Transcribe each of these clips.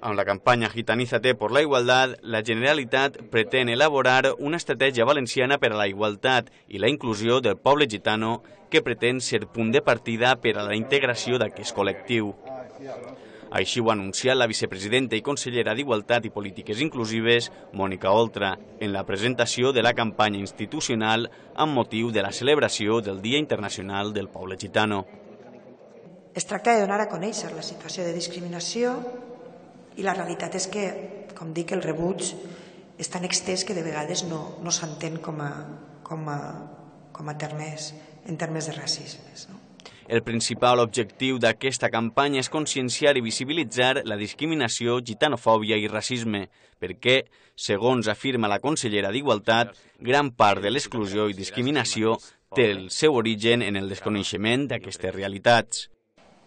Amb la campanya Gitanízate por la Igualdad, la Generalitat pretén elaborar una estratègia valenciana per a la igualtat i la inclusió del poble gitano que pretén ser punt de partida per a la integració d'aquest col·lectiu. Així ho ha anunciat la vicepresidenta i consellera d'Igualtat i Polítiques Inclusives, Mònica Oltra, en la presentació de la campanya institucional amb motiu de la celebració del Dia Internacional del Poble Gitano. Es tracta de donar a conèixer la situació de discriminació i la realitat és que, com dic, el rebuig és tan extès que de vegades no s'entén com a termes, en termes de racisme. El principal objectiu d'aquesta campanya és conscienciar i visibilitzar la discriminació, gitanofòbia i racisme, perquè, segons afirma la consellera d'Igualtat, gran part de l'exclusió i discriminació té el seu origen en el desconeixement d'aquestes realitats.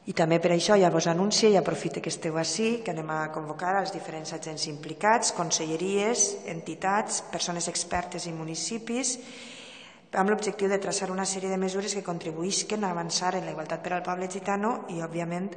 I també per això ja vos anuncio i aprofito que esteu ací, que anem a convocar els diferents agents implicats, conselleries, entitats, persones expertes i municipis, amb l'objectiu de traçar una sèrie de mesures que contribuïsquen a avançar en la igualtat per al poble gitano i, òbviament,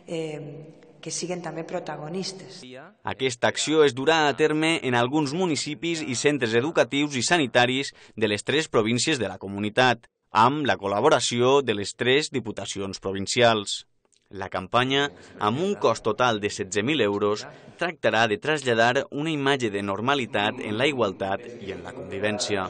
que siguin també protagonistes. Aquesta acció es durà a terme en alguns municipis i centres educatius i sanitaris de les 3 províncies de la comunitat, amb la col·laboració de les 3 diputacions provincials. La campanya, amb un cost total de 16.000 euros, tractarà de traslladar una imatge de normalitat en la igualtat i en la convivència.